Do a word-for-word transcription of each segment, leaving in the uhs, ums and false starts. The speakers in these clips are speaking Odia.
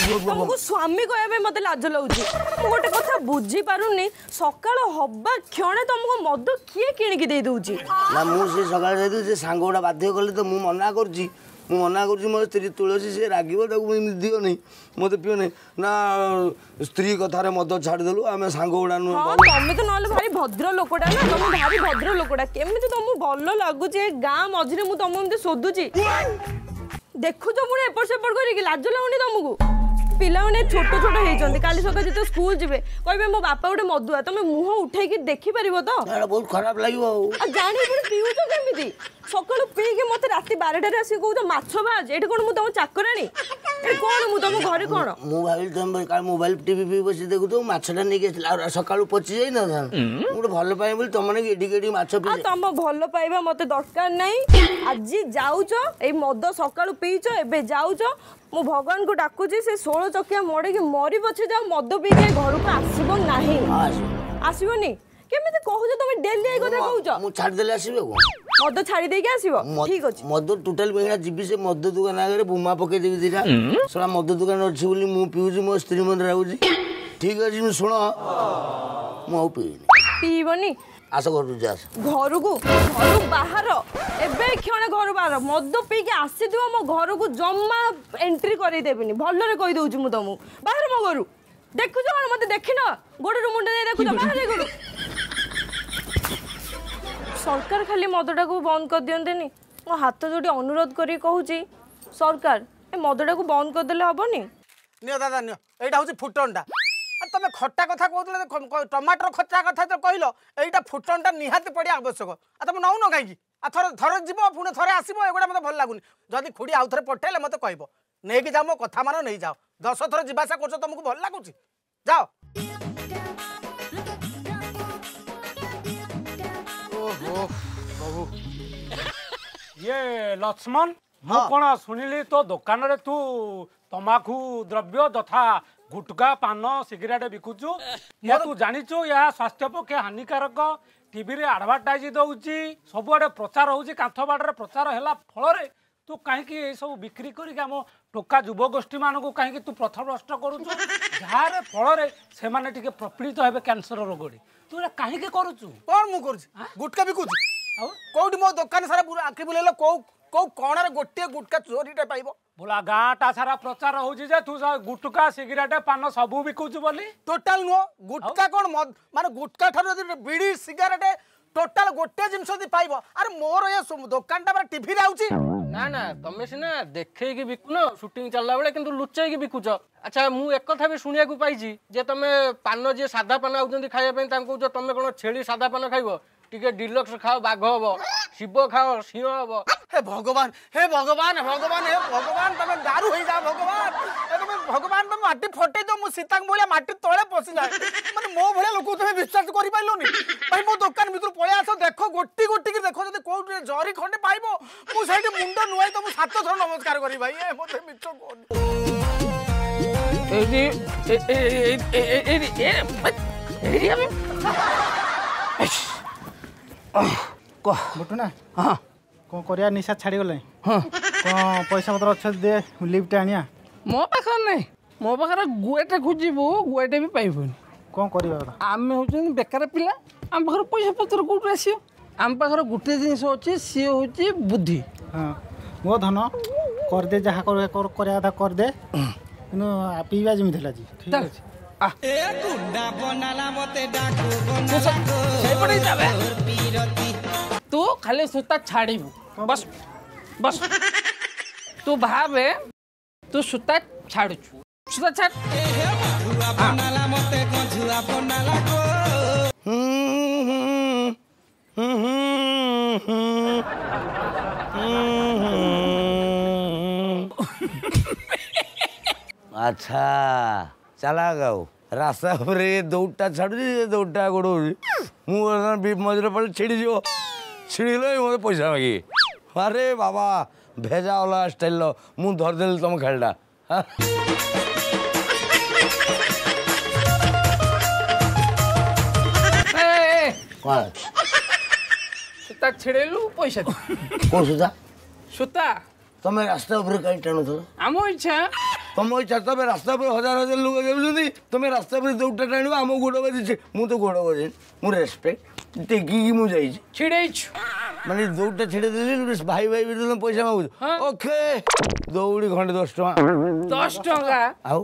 ତମକୁ ସ୍ୱାମୀ କହିବା ପାଇଁ ମତେ ଲାଜ ଲାଗୁଛି। ମୁଁ ଗୋଟେ କଥା ବୁଝିପାରୁନି, ସକାଳ ହବା କ୍ଷଣେ ତମକୁ ମଦ କିଏ କିଣିକି ଦେଇ ଦଉଛି? ନା, ମୁଁ ସେ ସକାଳେ ଯାଇଥିଲି, ସେ ସାଙ୍ଗ ଗୁଡ଼ା ବାଧ୍ୟ କଲେ ତ। ମୁଁ ମନା କରୁଛି, ମୁଁ ମନା କରୁଛି, ମୋ ସ୍ତ୍ରୀ ତୁଳସୀ ସେ ରାଗିବ, ତାକୁ ଏମିତି ଦିଅନି, ମୋତେ ପିଅନି ନା। ସ୍ତ୍ରୀ କଥାରେ ମଦ ଛାଡ଼ିଦେଲୁ, ଆମେ ସାଙ୍ଗ ଗୁଡ଼ା ନୁହେଁ? ହଁ, ତମେ ତ ନହେଲେ ଭାରି ଭଦ୍ର ଲୋକଟା ନା, ତମେ ଭାରି ଭଦ୍ର ଲୋକଟା। କେମିତି ତମକୁ ଭଲ ଲାଗୁଛି? ଏ ଗାଁ ମଝିରେ ମୁଁ ତମକୁ ଏମିତି ଶୋଧୁଛି, ଦେଖୁଛ ପୁଣି ଏପଟ ସେପଟ କରିକି, ଲାଜ ଲାଗୁନି ତମକୁ? ପିଲାମାନେ ଛୋଟ ଛୋଟ ହେଇଛନ୍ତି, କାଲି ସକାଳେ ଯେତେବେଳେ ସ୍କୁଲ ଯିବେ କହିବେ ମୋ ବାପା ଗୋଟେ ମଦୁଆ। ତମେ ମୁହଁ ଉଠେଇକି ଦେଖିପାରିବ ତ? ଏଇଟା ବହୁତ ଖରାପ ଲାଗିବ। ଆଉ ଆଉ ଜାଣି ପୁଣି ପିଉଛ କେମିତି? ସକାଳୁ ପିଇକି ମତେ ରାତି ବାରଟାରେ ଆସିକି କହୁଛ ମାଛ ଭାଜ। ଏଠି କଣ ମୁଁ ତମ ଚାକରାଣୀ? ଏଠି କଣ ମୁଁ ତମ ଘରେ କଣ? ମୁଁ ଭାବିଲି ତମେ କାଳେ ମୋବାଇଲ ଟିଭି ଫିଭି ବସି ଦେଖୁଥିବ, ମାଛଟା ନେଇକି ଆସିଲି, ଆଉ ସକାଳୁ ପଚି ଯାଇନଥାନ୍ତା। ମୁଁ ଗୋଟେ ଭଲ ପାଏ ବୋଲି ତମ ନାଗି ଏଠିକି ଏଠିକି ମାଛ ଆଉ ପିଇ। ତମ ଭଲ ପାଇବା ମତେ ଦରକାର ନାହିଁ। ଆଜି ଯାଉଛ, ଏଇ ମଦ ସକାଳୁ ପିଇଛ, ଏବେ ଯାଉଛ। ମୁଁ ଭଗବାନଙ୍କୁ ଡାକୁଛି ସେ ଷୋଳ ଚକିଆ ମଡେଇକି ମରି ପଛେ ଯାଅ, ମଦ ପିଇକି ଏ ଘରକୁ ଆସିବ ନାହିଁ। ଆସିବନି? କେମିତି କହୁଛ ତମେ? ଡେଲି ଏଇ କଥା କହୁଛ। ମୁଁ ଛାଡ଼ିଦେଲେ ଆସିବି ଆଉ କଣ? ମଦ ଛାଡି ଦେଇକି ଆସିବ, ଠିକ ଅଛି। ମଦ ଟୋଟାଲ ଏଇନା ଯିବି, ସେ ମଦ ଦୋକାନ ଆଗରେ ବୁମା ପକେଇଦେବି ଦିଟା। ଶଳା ମଦ ଦୋକାନ ଅଛି ବୋଲି ମୁଁ ପିଉଛି, ମୋ ସ୍ତ୍ରୀ ମନେ ରାଗୁଛି। ଠିକ ଅଛି, ମୁଁ ଶୁଣ, ମୁଁ ଆଉ ପିଇନି। ପିଇବନି? ଆସ ଘରକୁ ଯା, ଆସ ଘରକୁ। ଘରୁ ବାହାର, ଏବେ କ୍ଷଣେ ଘରୁ ବାହାର। ମଦ ପିଇକି ଆସିଥିବ ମୋ ଘରକୁ ଜମା ଏଣ୍ଟ୍ରି କରେଇଦେବିନି, ଭଲରେ କହିଦଉଛି ମୁଁ ତମକୁ। ବାହାର ମୋ ଘରୁ। ଦେଖୁଛ କଣ ମତେ? ଦେଖିନ, ଗୋଡରୁ ମୁଣ୍ଡ ଦେଇ ଦେଖୁଛ। ବାହାର ଘରୁ। ସରକାର ଖାଲି ମଦଟାକୁ ବନ୍ଦ କରିଦିଅନ୍ତେନି? ମୋ ହାତ ଯୋଡ଼ି ଅନୁରୋଧ କରିକି କହୁଛି, ସରକାର ଏ ମଦଟାକୁ ବନ୍ଦ କରିଦେଲେ ହବନି? ନିଅ ଦାଦା ନିଅ, ଏଇଟା ହେଉଛି ଫୁଟଣଟା। ଆଉ ତମେ ଖଟା କଥା କହୁଥିଲେ, ଟମାଟର ଖଟା କଥା ତ କହିଲ, ଏଇଟା ଫୁଟଣଟା ନିହାତି ପଡ଼ିବା ଆବଶ୍ୟକ। ଆଉ ତମେ ନଉନ କାହିଁକି? ଆଉ ଥରେ ଥରେ ଯିବ ପୁଣି ଥରେ ଆସିବ, ଏଗୁଡ଼ା ମୋତେ ଭଲ ଲାଗୁନି। ଯଦି ଖୁଡ଼ି ଆଉ ଥରେ ପଠେଇଲେ ମୋତେ କହିବ, ନେଇକି ଯାଅ। ମୋ କଥା ମାନ, ନେଇଯାଅ। ଦଶ ଥର ଯିବା ଆସିବା କରୁଛ, ତମକୁ ଭଲ ଲାଗୁଛି? ଯାଅ। ଓହୋ ପ୍ରଭୁ। ଇଏ ଲକ୍ଷ୍ମଣ, ମୁଁ କଣ ଶୁଣିଲି ତୋ ଦୋକାନରେ ତୁ ତମାଖୁ ଦ୍ରବ୍ୟ ଯଥା ଗୁଟକା, ପାନ, ସିଗାରେଟ ବିକୁଛୁ। ଏହା ତୁ ଜାଣିଛୁ ଏହା ସ୍ୱାସ୍ଥ୍ୟ ପକ୍ଷେ ହାନିକାରକ? ଟିଭିରେ ଆଡଭର୍ଟାଇଜ ଦଉଛି, ସବୁଆଡ଼େ ପ୍ରଚାର ହଉଛି, କାନ୍ଥ ବାଡ଼ରେ ପ୍ରଚାର ହେଲା ଫଳରେ ତୁ କାହିଁକି ଏସବୁ ବିକ୍ରି କରିକି ଆମ ଟୋକା ଯୁବଗୋଷ୍ଠୀମାନଙ୍କୁ କାହିଁକି ତୁ ପଥଭ୍ରଷ୍ଟ କରୁଛୁ, ଯାହାର ଫଳରେ ସେମାନେ ଟିକେ ପ୍ରପୀଡ଼ିତ ହେବେ କ୍ୟାନ୍ସର ରୋଗରେ? ତୁ ଏଇଟା କାହିଁକି କରୁଛୁ? କଣ ମୁଁ କରୁଛି? ଗୁଟକା ବିକୁଛି? ଆଉ କୋଉଠି? ମୋ ଦୋକାନ ସାରା ଆଖି ବୁଲେଇଲ, କୋଉ କୋଉ କଣରେ ଗୋଟିଏ ଗୁଟକା ଚୋରିଟା ପାଇବ? ବୋଲା, ଗାଁଟା ସାରା ପ୍ରଚାର ହଉଛି ଯେ ତୁ ଗୁଟକା, ସିଗାରେଟ, ପାନ ସବୁ ବିକୁଛୁ ବୋଲି। ଟୋଟାଲ ନୁହଁ। ଗୁଟକା କଣ, ମାନେ ଗୁଟକା ଠାରୁ ଯଦି ବିଡ଼ି, ସିଗାରେଟ, ଟୋଟାଲ ଗୋଟେ ଜିନିଷ ଯଦି ପାଇବ। ଆରେ ମୋର ଏ ଦୋକାନଟା ପରା ଟିଭିରେ ଆଉଛି। ନା ନା, ତମେ ସିନା ଦେଖେଇକି ବିକୁନ ସୁଟିଂ ଚାଲିଲା ବେଳେ, କିନ୍ତୁ ଲୁଚେଇକି ବିକୁଛ। ଆଚ୍ଛା, ମୁଁ ଏକଥା ବି ଶୁଣିବାକୁ ପାଇଛି ଯେ ତମେ ପାନ, ଯିଏ ସାଧା ପାନ ଆଉଛନ୍ତି ଖାଇବା ପାଇଁ, ତାଙ୍କୁ କହୁଛ ତମେ କଣ ଛେଳି ସାଧା ପାନ ଖାଇବ, ଟିକେ ଡିଲକ୍ସ ଖାଅ ବାଘ ହବ, ଶିବ ଖାଅ ସିଂହ ହବ। ହେ ଭଗବାନ, ହେ ଭଗବାନ, ଭଗବାନ, ହେ ଭଗବାନ, ତମେ ଦାରୁ ହେଇଯା ଭଗବାନ। ଏ ତମେ ଭଗବାନ, ତମେ ମାଟି ଫଟେଇ ଦିଅ, ମୁଁ ସୀତାଙ୍କ ଭଳିଆ ମାଟି ତଳେ ପଶିଯାଏ। ମାନେ ମୋ ଭଳିଆ ଲୋକକୁ ତମେ ବିଶ୍ୱାସ କରିପାରିଲନି? ଭାଇ, ମୋ ଦୋକାନ ଭିତରୁ ପଳେଇ ଆସ, ଦେଖ, ଗୋଟି ଗୋଟିକି ଦେଖ, ଯଦି କୋଉଠି ଜରି ଖଣ୍ଡେ ପାଇବ ମୁଁ ସେଇଠି ମୁଣ୍ଡ ନୁଆଇ ତମକୁ ସାତ ଥର ନମସ୍କାର କରିବି। ଭାଇ, ଏ ମତେ ମିଛ କୁହନି। ଏଇଠି ଏଇଠି କହ ବୁଟୁନା। ହଁ, କଣ କରିବା, ନିଶା ଛାଡ଼ିଗଲାଣି। ହଁ, କଣ ପଇସା ପତ୍ର ଅଛି ଦେ, ଲିଫ୍ଟ ଆଣିବା। ମୋ ପାଖରେ ନାହିଁ। ମୋ ପାଖରେ ଗୁଏଟେ ଖୋଜିବୁ ଗୁଏଟେ ବି ପାଇବୁନି। କଣ କରିବା କଥା? ଆମେ ହେଉଛନ୍ତି ବେକାର ପିଲା, ଆମ ପାଖରେ ପଇସା ପତ୍ର କୋଉଠୁ ଆସିବ? ଆମ ପାଖରେ ଗୋଟେ ଜିନିଷ ଅଛି, ସିଏ ହେଉଛି ବୁଦ୍ଧି। ହଁ ମୋ ଧନ, କରିଦେ, ଯାହା କରିବା କଥା କରିଦେ, କିନ୍ତୁ ପିଇବା ଯେମିତି ହେଲା ଆଜି। ଠିକ ଅଛି। ସେଇପଟେ ଯାବେ, ତୁ ଖାଲି ସୂତା ଛାଡ଼ିବୁ। ବସ୍ ବସ୍, ତୁ ଭାବେ ତୁ ସୂତା ଛାଡ଼ୁଛୁ। ସୂତା ଛାଡ଼। ଆଚ୍ଛା, ଚାଲାକ। ଆଉ ରାସ୍ତା ଉପରେ ଦୌଡ଼ଟା ଛାଡ଼ୁଛି, ସେ ଦୌଡ଼ଟା ଗୋଡ଼ଉଛି। ମୁଁ ବର୍ତ୍ତମାନ ମଝିରେ ପଡ଼ିଲେ ଛିଡ଼ିଯିବ, ଛିଡ଼ିଗଲେ ମୋତେ ପଇସା ମାଗିବେ। ଆରେ ବାବା, ଭେଜା ଅଲଗା ଷ୍ଟାଇଲ୍ର, ମୁଁ ଧରିଦେଲି ତମ ଖେଳଟା। କଣ ସୂତା ଛିଡ଼େଇଲୁ, ପଇସା ଦେ। କୋଉ ସୂତା? ସୂତା। ତମେ ରାସ୍ତା ଉପରେ କାହିଁ ଟାଣୁଥିଲ? ଆମ ଇଚ୍ଛା। ତମ ଇଚ୍ଛା ତମେ ରାସ୍ତା ଉପରେ ହଜାର ହଜାର ଲୋକ ଯାଉଛନ୍ତି ତମେ ରାସ୍ତା ଉପରେ ଦୌଡ଼ଟା ଟାଣିବ ଆମ ଗୋଡ଼ ବାଜିଛି ମୁଁ ତ ଗୋଡ଼ ବାଜିନି ମୁଁ ରେସପେକ୍ଟ ଟେକିକି ମୁଁ ଯାଇଛି ଛିଡେଇଛୁ ମାନେ ଦୌଡ଼ଟା ଛିଡେଇ ଦେଲି ଭାଇ ଭାଇ ବି ତମେ ପଇସା ମାଗୁଛ ଓକେ ଦୌଡ଼ି ଖଣ୍ଡେ ଦଶ ଟଙ୍କା ଦଶ ଟଙ୍କା ଆଉ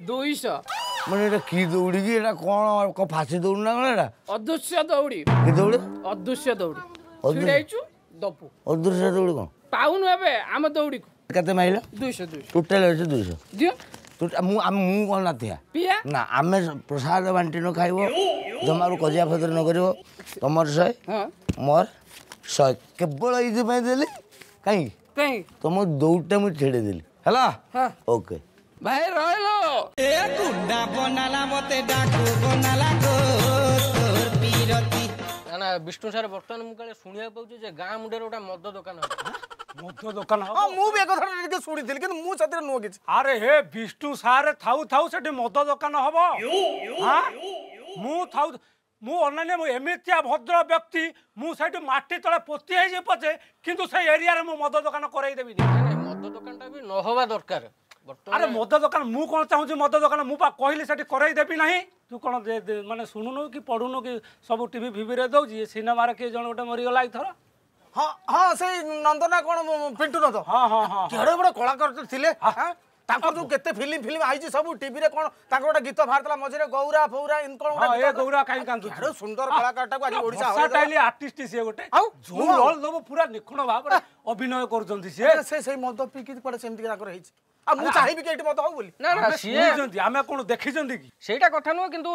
ଦୁଇଶହ ମାନେ ଏଇଟା କି ଦୌଡ଼ି କି ଏଇଟା କ'ଣ ଫାଶୀ ଦୌଡ଼ି ନା କ'ଣ ଏଇଟା ଅଦୃଶ୍ୟ ଦୌଡ଼ି କି ଦୌଡ଼ି ଅଦୃଶ୍ୟ ଦୌଡ଼ି ଛିଡେଇଛୁ ଦବୁ ଅଦୃଶ୍ୟ ଦୌଡ଼ି କ'ଣ ପାଉନୁ ଏବେ ଆମ ଦୌଡ଼ିକୁ କେତେ ମାଇଲ ଦୁଇଶହ ଦୁଇଶହ ଟୋଟାଲ ଅଛି ଦୁଇଶହ ଦିଅ ମୁଁ ମୁଁ କ'ଣ ନାଥିଆ ପିଆ ନା ଆମେ ପ୍ରସାଦ ବାଣ୍ଟି ନ ଖାଇବ ଜମାରୁ କଜିଆ ଫଜର ନ କରିବ ତମର ଶହେ ମୋର ଶହେ କେବଳ ଏଇଥିପାଇଁ ଦେଲି କାହିଁକି କାହିଁକି ତମ ଦୌଡ଼ଟା ମୁଁ ଛିଡ଼େଇ ଦେଲି ହେଲା ଓକେ ଭାଇ ରହିଲ ଏ ଗୁଣ୍ଡା ବନାଲା ମତେ ଡାକୁ ବନାଲା ଗୋ ତୋର ପୀରତି ନା ନା ବିଷ୍ଣୁ ସାର୍ ବର୍ତ୍ତମାନ ମୁଁ କାଳେ ଶୁଣିବାକୁ ପାଉଛି ଯେ ଗାଁ ମୁଣ୍ଡରେ ଗୋଟେ ମଦ ଦୋକାନ ମଦ ଦୋକାନ ହଁ ମୁଁ ବି ଏ କଥା ଟିକେ ଶୁଣିଥିଲି କିନ୍ତୁ ମୁଁ ସେଥିରେ ନୁହଁ କିଛି ଆରେ ହେ ବିଷ୍ଣୁ ସାର୍ ଥାଉ ଥାଉ ସେଠି ମଦ ଦୋକାନ ହବ ମୁଁ ଥାଉ ମୁଁ ଅନାନ୍ୟ ମୁଁ ଏମିତିଆ ଭଦ୍ର ବ୍ୟକ୍ତି ମୁଁ ସେଇଠି ମାଟି ତଳେ ପୋତି ହେଇଯିବି ପଛେ କିନ୍ତୁ ସେଇ ଏରିଆରେ ମୁଁ ମଦ ଦୋକାନ କରେଇ ଦେବିନି ମଦ ଦୋକାନଟା ବି ନ ହବା ଦରକାର ଆରେ ମଦ ଦୋକାନ ମୁଁ କ'ଣ ଚାହୁଁଛି ମଦ ଦୋକାନ ମୁଁ ପା କହିଲି ସେଠି କରେଇ ଦେବି ନାହିଁ ତୁ କ'ଣ ମାନେ ଶୁଣୁନୁ କି ପଢୁନୁ କି ସବୁ ଟିଭି ଫିଭିରେ ଦଉଛି ସିନେମାରେ କିଏ ଜଣେ ଗୋଟେ ମରିଗଲା ଏଇଥର ହଁ ହଁ ସେଇ ନନ୍ଦନା କ'ଣ ପିଣ୍ଟୁ ନନ୍ଦ ହଁ ହଁ ହଁ କେଡ଼େ ବଡ଼ କଳାକାର ଥିଲେ ତାଙ୍କର ଯୋଉ କେତେ ଫିଲ୍ମ ଫିଲ୍ମ ଆଇଛି ସବୁ ଟିଭିରେ କ'ଣ ତାଙ୍କର ଗୋଟେ ଗୀତ ବାହାରିଥିଲା ମଝିରେ ଗୌରା ଫୌରା ଏମିତି କ'ଣ ଗୋଟେ ଗୌରା କାହିଁ କାନ୍ଦୁଛୁ କେଡ଼େ ସୁନ୍ଦର କଳାକାରଟାକୁ ଆଜି ଓଡ଼ିଶା ଭର୍ସାଟାଇଲ୍ ଆର୍ଟିଷ୍ଟ ସିଏ ଗୋଟେ ଆଉ ଯୋଉ ରୋଲ ଦବ ପୁରା ନିଖୁଣ ଭାବରେ ଅଭିନୟ କରୁଛନ୍ତି ସିଏ ସେ ସେଇ ମଦ ପିଇକି କୁଆଡ଼େ ସେମିତି ତାଙ୍କର ହେଇଛି ଆଉ ମୁଁ ଚାହିଁବି କି ଏଇଠି ମଦ ହଉ ବୋଲି ନା ନା ସିଏ ଆମେ କ'ଣ ଦେଖିଛନ୍ତି କି ସେଇଟା କଥା ନୁହଁ କିନ୍ତୁ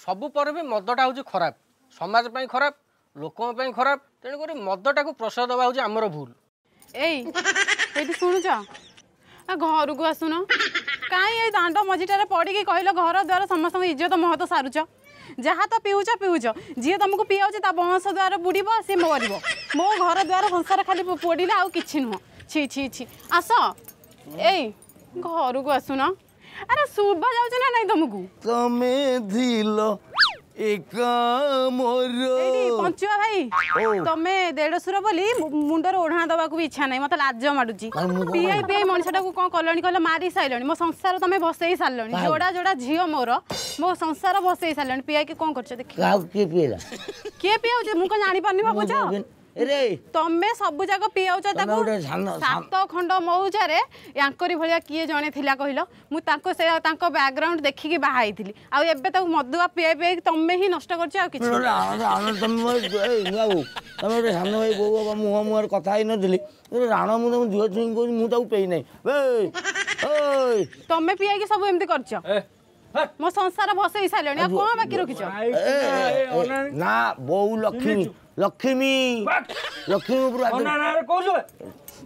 ସବୁ ପରେ ବି ମଦଟା ହେଉଛି ଖରାପ ସମାଜ ପାଇଁ ଖରାପ ଲୋକଙ୍କ ପାଇଁ ଖରାପ ତେଣୁକରି ମଦଟାକୁ ପ୍ରଶ୍ରୟ ଦେବା ହେଉଛି ଆମର ଭୁଲ ଏଇ ଏଇଠି ଶୁଣୁଛ ଘରକୁ ଆସୁନ କାହିଁ ଏଇ ଦାଣ୍ଡ ମଝିଟାରେ ପଡ଼ିକି କହିଲ ଘର ଦ୍ୱାର ସମସ୍ତଙ୍କ ଇଜ୍ଜତ ମହତ ସାରୁଛ ଯାହା ତ ପିଉଛ ପିଉଛ ଯିଏ ତମକୁ ପିଆଉଛି ତା ବଂଶ ଦ୍ୱାର ବୁଡ଼ିବ ସିଏ ମରିବ ମୋ ଘର ଦ୍ୱାର ସଂସାର ଖାଲି ପୋଡ଼ିଲା ଆଉ କିଛି ନୁହଁ ଛି ଛି ଛି ଆସ ଏଇ ଘରକୁ ଆସୁନ ଆରେ ଶୁଭା ଯାଉଛି ନା ନାଇଁ ତମକୁ ତମେ ଥିଲ ଏକା ମୋର ପଞ୍ଚୁଆ ଭାଇ ତମେ ଦେଢ଼ଶୁର ବୋଲି ମୁଣ୍ଡରେ ଓଢ଼ଣା ଦବାକୁ ବି ଇଚ୍ଛା ନାହିଁ ମତେ ଲାଜ ମାଡୁଛି ପିଆଇ ପିଆଇ ମଣିଷଟାକୁ କ'ଣ କଲଣି କହିଲ ମାରି ସାରିଲଣି ମୋ ସଂସାର ତମେ ଭସେଇ ସାରିଲଣି ଯୋଡ଼ା ଯୋଡ଼ା ଝିଅ ମୋର ମୋ ସଂସାର ଭସେଇ ସାରିଲଣି ପିଆଇକି କ'ଣ କରୁଛ ଦେଖି କିଏ ପିଇଲା କିଏ ପିଆଉଛି ମୁଁ କ'ଣ ଜାଣିପାରୁନି ଭାବୁଛ ତମେ ସବୁ ଯାକ ପିଆଉଛ ତାକୁ ସାତ ଖଣ୍ଡ ମଉଜାରେ ୟାଙ୍କରି ଭଳିଆ କିଏ ଜଣେ ଥିଲା କହିଲ ମୁଁ ତାଙ୍କୁ ସେ ତାଙ୍କ ବ୍ୟାକଗ୍ରାଉଣ୍ଡ ଦେଖିକି ବାହା ହେଇଥିଲି ଆଉ ଏବେ ତାକୁ ମଦୁଆ ପିଆଇ ପିଆଇକି ତମେ ହିଁ ନଷ୍ଟ କରୁଛ ଆଉ କିଛି ତମେ ଗୋଟେ ସାନ ଭାଇ ବୋଉ ବାବା ମୁହଁ ମୁହଁରେ କଥା ହେଇନଥିଲି ରାଣ ମୁଁ ତମ ଝିଅ ଛୁଇଁ କହୁଛି ମୁଁ ତାକୁ ପେଇ ନାହିଁ ତମେ ପିଆଇକି ସବୁ ଏମିତି କରିଛ ମୋ ସଂସାର ଭସେଇ ସାରିଲଣି ଆଉ କ'ଣ ବାକି ରଖିଛ ନା ବୋଉ ଲକ୍ଷ୍ମୀ ଲକ୍ଷ୍ମୀ ଲକ୍ଷ୍ମୀ ଉପରୁ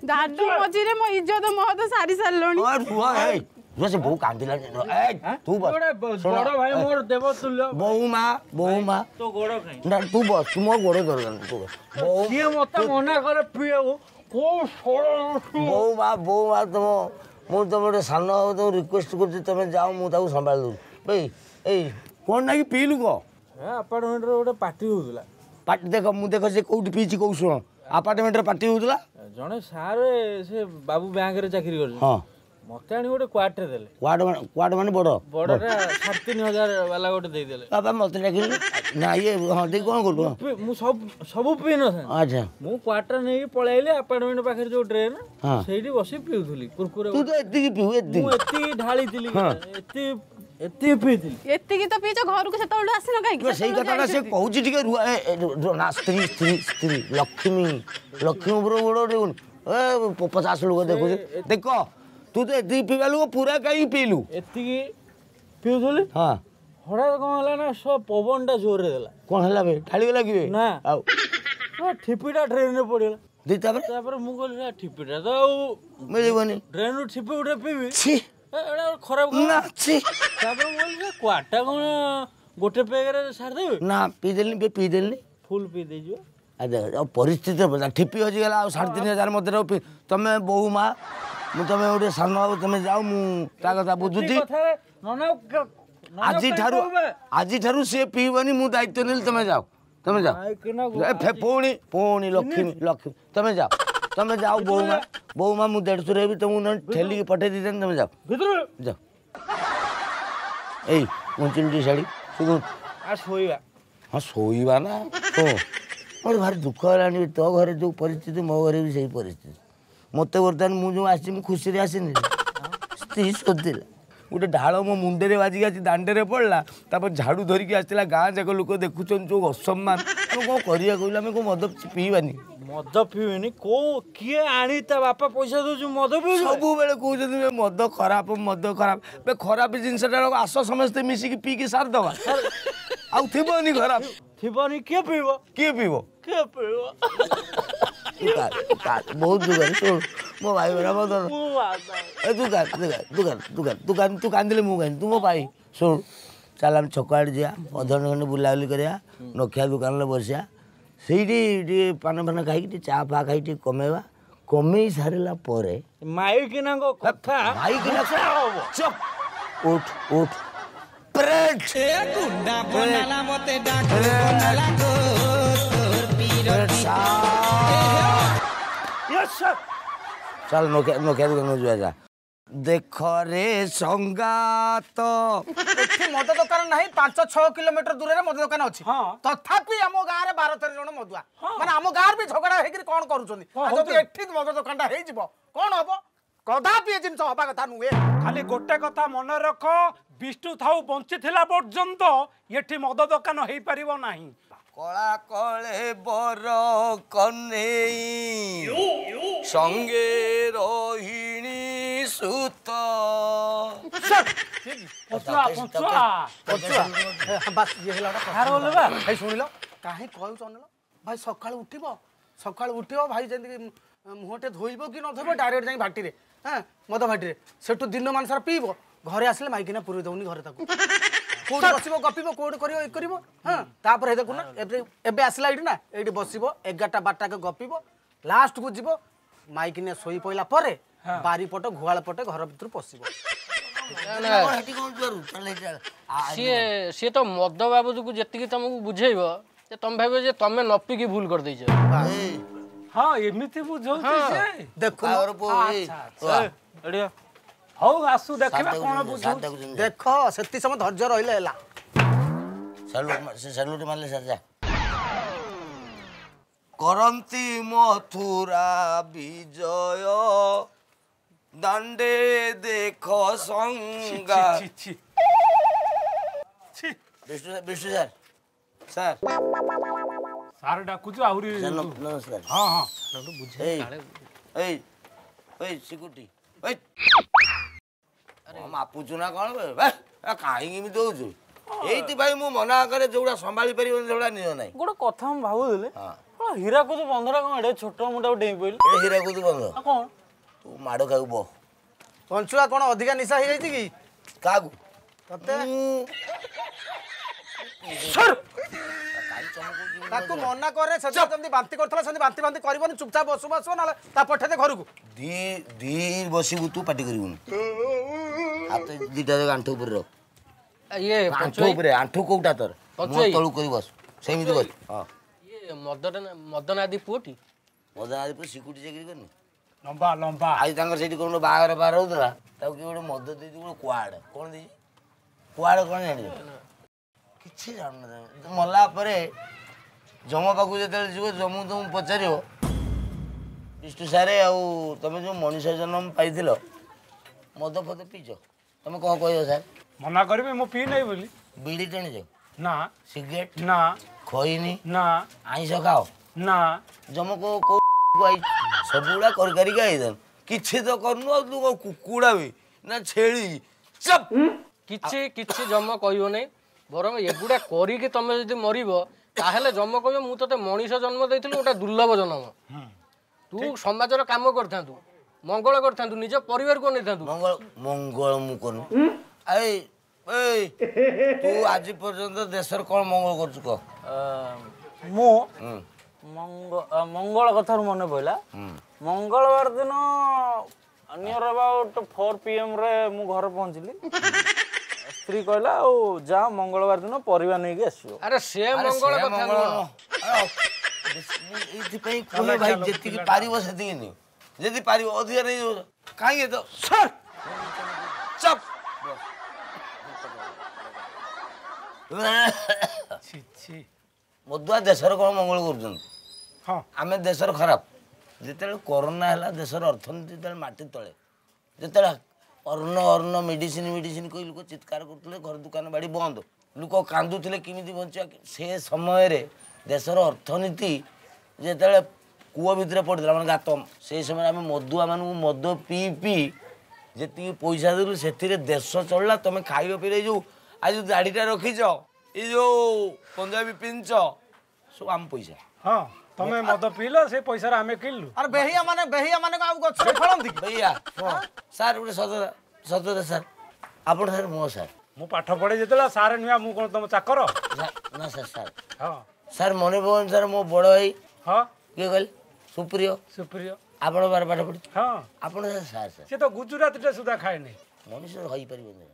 ଦାଦୁ ମଝିରେ ମୋ ଇଜ୍ଜତ ମହତ ସାରି ସାରିଲଣି ସେ ବୋଉ କାନ୍ଦିଲାଣି ତୁ ବସ ବୋଉ ମା ବୋଉ ମା ନା ତୁ ବସ ତୁ ମୋ ଗୋଡ଼ ଦରକାର ତୁ ବସ ବୋଉ ମା ବୋଉ ମା ତମ ମୁଁ ତମ ଗୋଟେ ସାନ ହବ ତମ ରିକ୍ୱେଷ୍ଟ କରୁଛି ତମେ ଯାଅ ମୁଁ ତାକୁ ସମ୍ଭାଳି ଦେଉଛି ଏଇ ଏଇ କ'ଣ ନାକି ପିଇଲୁ କହ ଆପାର୍ଟମେଣ୍ଟରେ ଗୋଟେ ପାର୍ଟି ହଉଥିଲା ପାର୍ଟି ଦେଖ ମୁଁ ଦେଖ ସେ କୋଉଠି ପିଇଛି କୋଉ ଶୁଣ ଆପାର୍ଟମେଣ୍ଟରେ ପାର୍ଟି ହଉଥିଲା ଜଣେ ସାର୍ ସେ ବାବୁ ବ୍ୟାଙ୍କରେ ଚାକିରି କରୁଛନ୍ତି ହଁ ମତେ ଆଣି ଗୋଟେ କ୍ୱାର୍ଟର ଦେଲେ କ୍ୱାର୍ଟ କ୍ୱାର୍ଟ ମାନେ ବଡ଼ ବଡ଼ଟା ସାଢ଼େ ତିନି ହଜାର ବାଲା ଗୋଟେ ଦେଇଦେଲେ ବାବା ମତେ ଡାକିଲେ ନା ଇଏ ହଁ ଦେଇ କ'ଣ କଲୁ ମୁଁ ସବୁ ସବୁ ପିଇ ନଥାନ୍ତି ଆଚ୍ଛା ମୁଁ କ୍ୱାର୍ଟର ନେଇକି ପଳେଇଲି ଆପାର୍ଟମେଣ୍ଟ ପାଖରେ ଯୋଉ ଡ୍ରେନ୍ ସେଇଠି ବସି ପିଉଥିଲି କୁରକୁରେ ତୁ ତ ଏତିକି ପିଉ ଏତିକି ମୁଁ ଏତିକି ଢାଳିଥିଲି ଏତିକି ଏତିକି ପିଇଥିଲି ଏତିକି ତ ପିଇଛ ଘରକୁ ସେତେବେଳୁ ଆସିନ କାହିଁକି ସେଇ କଥାଟା ସେ କହୁଛି ଟିକେ ରୁହ ନା ସ୍ତ୍ରୀ ସ୍ତ୍ରୀ ସ୍ତ୍ରୀ ଲକ୍ଷ୍ମୀ ଲକ୍ଷ୍ମୀ ଉପର ଗୋଡ଼ ଉଠେଇବୁନି ଏ ପଚାଶ ଲୋକ ଦେଖୁଛି ଦେଖ ତୁ ତ ଏତିକି ପିଇବା ଲୋକ ପୁରା କାହିଁକି ପିଇଲୁ ଏତିକି ପିଉଥିଲି ହଁ ହଠାତ୍ କ'ଣ ହେଲା ନା ସବୁ ପବନଟା ଜୋରରେ ଦେଲା କ'ଣ ହେଲା ବେ ଢାଳିଗଲା କି ବେ ନା ଆଉ ଠିପିଟା ଡ୍ରେନରେ ପଡ଼ିଗଲା ଦେଇ ତାପରେ ତାପରେ ମୁଁ କହିଲି ଠିପିଟା ତ ଆଉ ମିଳିବନି ଡ୍ରେନରୁ ଠିପି ଗୋଟେ ପିଇବି ଛି ଏଇଟା ଖରାପ ନା ଛି ତାପରେ ମୁଁ କହିଲି କ୍ୱାର୍ଟଟା କ'ଣ ଗୋଟେ ପେଗରେ ସାରିଦେବି ନା ପିଇଦେଲିନି ବେ ପିଇଦେଲିନି ଫୁଲ୍ ପିଇ ଦେଇଯିବ ଆଉ ପରିସ୍ଥିତି ଠିପି ହଜିଗଲା ଆଉ ସାଢ଼େ ତିନି ହଜାର ମଧ୍ୟରେ ତମେ ବୋଉ ମା ମୁଁ ତମେ ଗୋଟେ ସାନ ବାବୁ ତମେ ଯାଅ ମୁଁ ତା କଥା ବୁଝୁଛି ଆଜିଠାରୁ ଆଜିଠାରୁ ସିଏ ପିଇବନି ମୁଁ ଦାୟିତ୍ୱ ନେଲି ତମେ ଯାଅ ତମେ ଯାଅ ପୁଣି ପୁଣି ଲକ୍ଷ୍ମୀ ଲକ୍ଷ୍ମୀ ତମେ ଯାଅ ତମେ ଯାଅ ବୋଉମା ବୋଉମା ମୁଁ ଦେଢ଼ଶୁର ହେବି ତମକୁ ନହେଲେ ଠେଲିକି ପଠେଇ ଦେଇଥାନ୍ତି ତମେ ଯାଅ ଯାଅ ଏଇ ଘୁଞ୍ଚିଲୁ ଟିକେ ଶାଢ଼ୀ ଶୁଣୁ ଶୋଇବା ହଁ ଶୋଇବା ନା ଶୁଣ ମୋର ଭାରି ଦୁଃଖ ହେଲାଣି ତୋ ଘରେ ଯେଉଁ ପରିସ୍ଥିତି ମୋ ଘରେ ବି ସେଇ ପରିସ୍ଥିତି ମୋତେ ବର୍ତ୍ତମାନ ମୁଁ ଯେଉଁ ଆସିଛି ମୁଁ ଖୁସିରେ ଆସିନି ସ୍ତ୍ରୀ ଶୋଧିଲା ଗୋଟେ ଢାଳ ମୋ ମୁଣ୍ଡରେ ବାଜିକି ଆସି ଦାଣ୍ଡରେ ପଡ଼ିଲା ତାପରେ ଝାଡ଼ୁ ଧରିକି ଆସିଥିଲା ଗାଁ ଯାକ ଲୋକ ଦେଖୁଛନ୍ତି ଯେଉଁ ଅସମ୍ମାନ ଆମେ କ'ଣ କରିବା କହିଲୁ ଆମେ କ'ଣ ମଦ ପିଇବାନି ମଦ ପିଇବେନି କୋଉ କିଏ ଆଣି ତା ବାପା ପଇସା ଦଉଛି ମଦ ପିଉଛୁ ସବୁବେଳେ କହୁଛନ୍ତି ବେ ମଦ ଖରାପ ମଦ ଖରାପ ବେ ଖରାପ ଜିନିଷଟା ଆସ ସମସ୍ତେ ମିଶିକି ପିଇକି ସାରିଦେବା ଆଉ ଥିବନି ଖରାପ ଥିବନି କିଏ ପିଇବ କିଏ ପିଇବ କିଏ ପିଇବ ବହୁତ ଦୁଃଖ ଶୁଣ ମୋ ଭାଇ ବରାବର ଏ ତୁ କାନ୍ଦ ତୁ କାନ୍ଦ ତୁ କାନ୍ଦ ତୁ କାନ୍ଦ ତୁ କାନ୍ଦିଲେ ମୁଁ କାନ୍ଦି ତୁ ମୋ ଭାଇ ଶୁଣ ଚାଲ ଆମେ ଛକ ଆଡ଼େ ଯିବା ଅଧଘଣ୍ଟା ଖଣ୍ଡେ ବୁଲାବୁଲି କରିବା ନଖିଆ ଦୋକାନରେ ବସିବା ସେଇଠି ଟିକେ ପାନ ଫାନ ଖାଇକି ଟିକେ ଚା ଫା ଖାଇକି ଟିକେ କମେଇବା କମେଇ ସାରିଲା ପରେ ମାଇକିନାଙ୍କ କଥା ମାଇକିନା ଚୁପ୍ ଉଠ ଉଠ ପ୍ରେଟ୍ ଗୁଣ୍ଡା ବନାଲା ମତେ ଡାକୁ ବନାଲା ଗୋ ତୋର ପୀରତି ଚାଲ ନୋକିଆ ନୋକିଆ ଦୋକାନକୁ ଯିବା ଯା ଦେଖ ରେ ସଙ୍ଗାତ ଏଠି ମଦ ଦୋକାନ ନାହିଁ ପାଞ୍ଚ ଛଅ କିଲୋମିଟର ଦୂରରେ ମଦ ଦୋକାନ ଅଛି ତଥାପି ଆମ ଗାଁରେ ବାର ତେର ଜଣ ମଦୁଆ ମାନେ ଆମ ଗାଁରେ ବି ଝଗଡ଼ା ହେଇକିରି କଣ କରୁଛନ୍ତି ଯଦି ଏଠି ମଦ ଦୋକାନଟା ହେଇଯିବ କଣ ହବ କଦାପି ଏ ଜିନିଷ ହବା କଥା ନୁହେଁ ଖାଲି ଗୋଟେ କଥା ମନେ ରଖ ବିଷ୍ଣୁ ଥାଉ ବଞ୍ଚିଥିଲା ପର୍ଯ୍ୟନ୍ତ ଏଠି ମଦ ଦୋକାନ ହେଇପାରିବ ନାହିଁ କଳା କଳେ ବର କନେଇ ସଙ୍ଗେ ରୋହିଣୀ ସୁତ ଭାଇ ଶୁଣିଲ କାହିଁ କହୁଛ ଅନିଲ ଭାଇ ସକାଳୁ ଉଠିବ ସକାଳୁ ଉଠିବ ଭାଇ ଯେମିତି ମୁହଁଟେ ଧୋଇବ କି ନ ଧୋଇବ ଡାଇରେକ୍ଟ ଯାଇ ଭାଟିରେ ହଁ ମଦ ଭାଟିରେ ସେଠୁ ଦିନମାନ ସାରା ପିଇବ ଘରେ ଆସିଲେ ମାଇକିନା ପୁରେଇ ଦଉନି ଘରେ ତାକୁ କୋଉଠି ବସିବ ଗପିବ କୋଉଠି କରିବ ଏ କରିବ ହଁ ତାପରେ ଦେଖୁନ ଏବେ ଏବେ ଆସିଲା ଏଇଠି ନା ଏଇଠି ବସିବ ଏଗାରଟା ବାରଟାକେ ଗପିବ ଲାଷ୍ଟକୁ ଯିବ ମାଇକିନା ଶୋଇ ପଇଲା ପରେ ବାରିପଟ ଗୁହାଳ ପଟେ ଘର ଭିତରୁ ପଶିବ ସିଏ ସିଏ ତ ମଦ ବାବଦକୁ ଯେତିକି ତମକୁ ବୁଝେଇବ ଯେ ତମେ ଭାବିବ ଯେ ତମେ ନ ପିଇକି ଭୁଲ କରିଦେଇଛ ହଁ ଏମିତି ବୁଝଉଛି ସେ ଦେଖୁନ ହଉ ଆସୁ ଦେଖିବା କଣ ବୁଝଉଛି ଦେଖ ସେତିକି ସମୟ ଧୈର୍ଯ୍ୟ ରହିଲେ ହେଲା ସାଲୁଟ ମାରିଲେ ସାର୍ ଯା କରନ୍ତି ମଥୁରା ବିଜୟ ଦାଣ୍ଡେ ଦେଖ ସଙ୍ଗା Vishnu Vishnu sir sir sir ଡାକୁଛୁ ଆହୁରି ନମସ୍କାର ହଁ ହଁ ଏଇ ଏଇ ଏଇ ସିକୁଟି ଏଇ ମାପୁଛୁ ନା କ'ଣ କାହିଁକି ଏମିତି ହଉଛୁ ଏଇଥିପାଇଁ ମୁଁ ମନା କରେ ଯୋଉଟା ସମ୍ଭାଳି ପାରିବନି ସେଗୁଡ଼ା ନିଅ ନାହିଁ ଗୋଟେ କଥା ମୁଁ ଭାବୁଥିଲି ହୀରାକୁଦ ବନ୍ଧଟା କ'ଣ ଏଡ଼େ ଛୋଟ ମୁଁ ତାକୁ ଡେଇଁ ପଇଲି ଏ ହୀରାକୁଦ ବନ୍ଧ କ'ଣ ତୁ ମାଡ଼ ଖାଇବୁ ବ ପଞ୍ଚୁଆ କ'ଣ ଅଧିକା ନିଶା ହେଇଯାଇଛି କି କାହାକୁ ତତେ ତାକୁ ମନା କରେ ସେଦିନ ଯେମିତି ବାନ୍ତି କରିଥିଲା ସେମିତି ବାନ୍ତି ବାନ୍ତି କରିବନି ଚୁପଚାପ ବସୁ ବସିବ ନହେଲେ ତା ପଠେଇଦେ ଘରକୁ ଦି ଦି ବସିବୁ ତୁ ପାଟି କରିବୁନି ହାତ ଦିଟା ଯାକ ଆଣ୍ଠୁ ଉପରେ ରଖ ଇଏ ଆଣ୍ଠୁ ଉପରେ ଆଣ୍ଠୁ କୋଉଟା ତୋର ମୁହଁ ତଳକୁ କରି ବସ ସେମିତି ବସ ହଁ ଇଏ ମଦନ ମଦନାଦି ପୁଅଟି ମଦନାଦି ପୁଅ ସିକୁଟି ଚାକିରି କରିନି ଲମ୍ବା ଲମ୍ବା ଆଜି ତାଙ୍କର ସେଇଠି କ'ଣ ବାହାଘର ବାହାର ହଉଥିଲା ତାକୁ କିଏ ଗୋଟେ ମଦ ଦେଇଛି ଗୋଟେ କୁଆଡ଼େ କ'ଣ ଦେଇଛି କୁଆଡ଼େ କ'ଣ ଜାଣିଛ କିଛି ଜାଣୁନ ମଲା ପରେ ଯମ ପାଖକୁ ଯେତେବେଳେ ଯିବ ଯମକୁ ତମକୁ ପଚାରିବ ବିଷ୍ଣୁ ସାରେ ଆଉ ତମେ ଯେଉଁ ମଣିଷ ଜନ୍ମ ପାଇଥିଲ ମଦ ଫଦ ପିଇଛ ତମେ କ'ଣ କହିବ ସାର୍ ମନା କରିବି ମୁଁ ପିଇ ନାହିଁ ବୋଲି ବିଡ଼ି ଟାଣିଛ ନା ସିଗାରେଟ ନା ଖଇନି ନା ଆଇଁଷ ଖାଅ ନା ଯମ କୋଉ ସବୁଗୁଡ଼ା କରି କରିକି ଆଇଥାନ୍ତୁ କିଛି ତ କରୁନୁ ଆଉ ତୁ କ'ଣ କୁକୁଡ଼ା ବି ନା ଛେଳି ଚପ୍ କିଛି କିଛି ଜମ କହିବ ନାହିଁ ବରଂ ଏଗୁଡ଼ା କରିକି ତମେ ଯଦି ମରିବ ତାହେଲେ ଜମ କହିବ ମୁଁ ତତେ ମଣିଷ ଜନ୍ମ ଦେଇଥିଲି ଗୋଟେ ଦୁର୍ଲଭ ଜନ୍ମ ତୁ ସମାଜର କାମ କରିଥାନ୍ତୁ ମଙ୍ଗଳ କରିଥାନ୍ତୁ ନିଜ ପରିବାରକୁ ଅନେଇଥାନ୍ତୁ ମଙ୍ଗଳ ମଙ୍ଗଳ ମୁଁ କରୁନି ଏଇ ଏଇ ତୁ ଆଜି ପର୍ଯ୍ୟନ୍ତ ଦେଶର କ'ଣ ମଙ୍ଗଳ କରୁଛୁ କହ ମୁଁ ମଙ୍ଗଳ କଥାରୁ ମନେ ପଡ଼ିଲା ମଙ୍ଗଳବାର ଦିନ ନିୟର ଆବାଉଟ୍ ଫୋର୍ ପି ଏମ୍ରେ ମୁଁ ଘରେ ପହଞ୍ଚିଲି ସ୍ତ୍ରୀ କହିଲା ଆଉ ଯା ମଙ୍ଗଳବାର ଦିନ ପରିବା ନେଇକି ଆସିବ ଆରେ ସେ ମଙ୍ଗଳ କଥା ନୁହଁ ଏଇଥିପାଇଁ କୁହେ ଭାଇ ଯେତିକି ପାରିବ ସେତିକି ନିଅ ଯଦି ପାରିବ ଅଧିକା ନେଇଯିବ କାହିଁକି ତ ସାର୍ ଚପ୍ ମଦୁଆ ଦେଶର କ'ଣ ମଙ୍ଗଳ କରୁଛନ୍ତି ହଁ ଆମେ ଦେଶର ଖରାପ ଯେତେବେଳେ କରୋନା ହେଲା ଦେଶର ଅର୍ଥନୀତି ଯେତେବେଳେ ମାଟି ତଳେ ଯେତେବେଳେ ଅନ୍ନ ଅନ୍ନ ମେଡ଼ିସିନ ମେଡ଼ିସିନ କହି ଲୋକ ଚିତ୍କାର କରୁଥିଲେ ଘର ଦୋକାନ ବାଡ଼ି ବନ୍ଦ ଲୋକ କାନ୍ଦୁଥିଲେ କେମିତି ବଞ୍ଚିବା ସେ ସମୟରେ ଦେଶର ଅର୍ଥନୀତି ଯେତେବେଳେ କୂଅ ଭିତରେ ପଡ଼ିଥିଲା ମାନେ ଗାତ ସେଇ ସମୟରେ ଆମେ ମଦୁଆମାନଙ୍କୁ ମଦ ପିଇ ପିଇ ଯେତିକି ପଇସା ଦେଲୁ ସେଥିରେ ଦେଶ ଚଳିଲା ତମେ ଖାଇବା ପିଇବା ଏଇ ଯେଉଁ ଆଜି ଯେଉଁ ଦାଢ଼ିଟା ରଖିଛ ଏଇ ଯେଉଁ ପଞ୍ଜାବୀ ପିନ୍ଧିଛ ସବୁ ଆମ ପଇସା ହଁ ତମେ ମଦ ପିଇଲ ସେ ପଇସାରେ ଆମେ କିଣିଲୁ ଆରେ ବେହିଆ ମାନେ ବେହିଆ ମାନେ ଆଉ ଗଛରେ ଫଳନ୍ତି କି ବେହିଆ ସାର୍ ଗୋଟେ ସତ ସତ ସାର୍ ଆପଣ ସାର୍ ମୋ ସାର୍ ମୁଁ ପାଠ ପଢେ ଯେତେବେଳେ ସାର୍ ନୁହେଁ ମୁଁ କ'ଣ ତମ ଚାକର ନା ସାର୍ ସାର୍ ହଁ ସାର୍ ମନେ ପକାନ୍ତୁ ସାର୍ ମୋ ବଡ଼ ଭାଇ ହଁ କିଏ କହିଲେ ସୁପ୍ରିୟ ସୁପ୍ରିୟ ଆପଣ ବାର ପାଠ ପଢି ହଁ ଆପଣ ସାର୍ ସାର୍ ସାର୍ ସେ ତ ଗୁଜୁରାତିଟା ସୁଦ୍ଧା ଖାଏନି ମଣିଷ ହେଇପାରିବନି